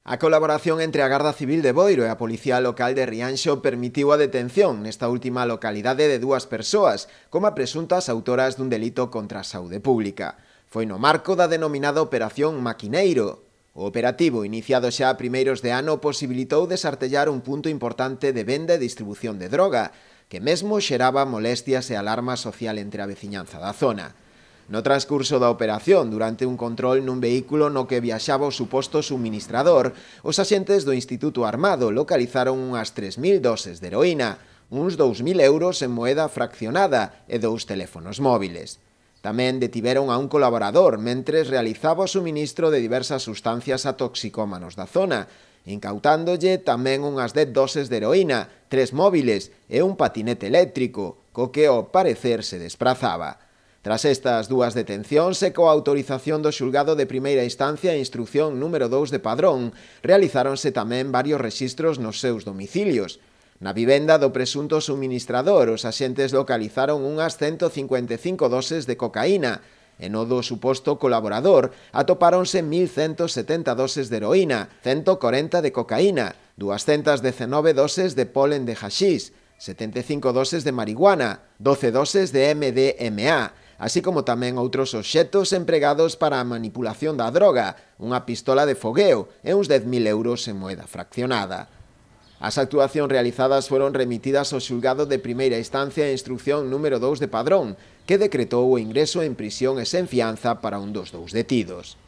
A colaboración entre a Garda Civil de Boiro e a Policía Local de Rianxo permitiu a detención nesta última localidade de dúas persoas como presuntas autoras dun delito contra a saúde pública. Foi no marco da denominada Operación Maquineiro. O operativo, iniciado xa a primeiros de ano, posibilitou desartellar un punto importante de venda e distribución de droga, que mesmo xeraba molestias e alarma social entre a veciñanza da zona. No transcurso da operación, durante un control nun vehículo no que viaxaba o suposto suministrador, os axentes do Instituto Armado localizaron unhas 3.000 doses de heroína, uns 2.000 euros en moeda fraccionada e 2 teléfonos móviles. Tamén detiveron a un colaborador mentres realizaba o suministro de diversas sustancias a toxicómanos da zona, incautándole tamén unhas 10 doses de heroína, 3 móviles e un patinete eléctrico, co que ao parecer se desprazaba. Tras estas dúas detencións e coa autorización do xulgado de primeira instancia e instrucción número 2 de Padrón, realizáronse tamén varios rexistros nos seus domicilios. Na vivenda do presunto suministrador, os axentes localizaron unhas 155 doses de cocaína, e no do suposto colaborador atopáronse 1.170 doses de heroína, 140 de cocaína, 219 doses de polen de haxís, 75 doses de marihuana, 12 doses de MDMA, así como tamén outros obxectos empregados para a manipulación da droga, unha pistola de fogueo e uns 10.000 euros en moeda fraccionada. As actuacións realizadas foron remitidas ao xulgado de primeira instancia e instrucción número 2 de Padrón, que decretou o ingreso en prisión e sen fianza para un dos dous detidos.